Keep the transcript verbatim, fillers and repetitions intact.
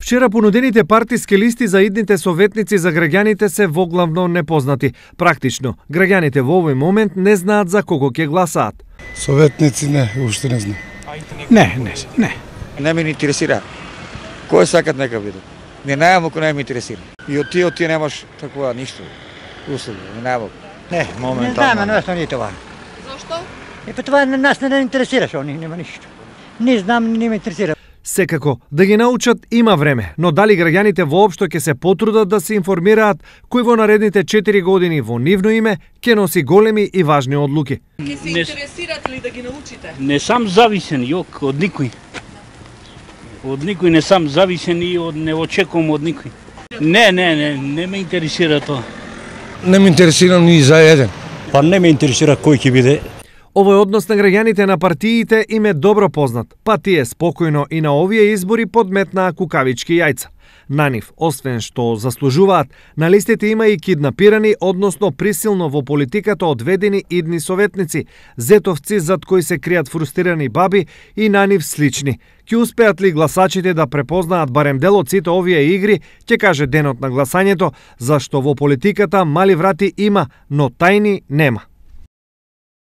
Вчера понудените партиски листи за идните советници за граѓаните се воглавно непознати. Практично, граѓаните во овој момент не знаат за кого ќе гласаат. Советници не, уште не знам. Не, не, не. Не ме интересира. Кој сакат нека биде. Не најам ако не ме интересира. И од тие, од тие немаш такова ништо. Услуга, не најам. Не, моментално. Не знам, не това. Зошто? Е, па това нас не интересира, што нема ништо. Не знам, не ме интересира. Секако, да ги научат има време, но дали граѓаните воопшто ќе се потрудат да се информираат кој во наредните четири години во нивно име ќе носи големи и важни одлуки. Ќе се интересирате ли да ги научите? Не сам зависен, јок, од никој. Од никој не сам зависен и од, не очекувам од никој. Не, не, не, не ме интересира тоа. Не ме интересира ни за еден. Па не ме интересира кој ќе биде. Овој однос на граѓаните на партиите им е добро познат, па тие спокојно и на овие избори подметнаа кукавички јајца. На нив, освен што заслужуваат, на листите има и киднапирани, односно присилно во политиката одведени идни советници, зетовци зад кои се кријат фрустрирани баби и на нив слични. Ќе успеат ли гласачите да препознаат барем дел од сите овие игри, ќе каже денот на гласањето, зашто во политиката мали врати има, но тајни нема.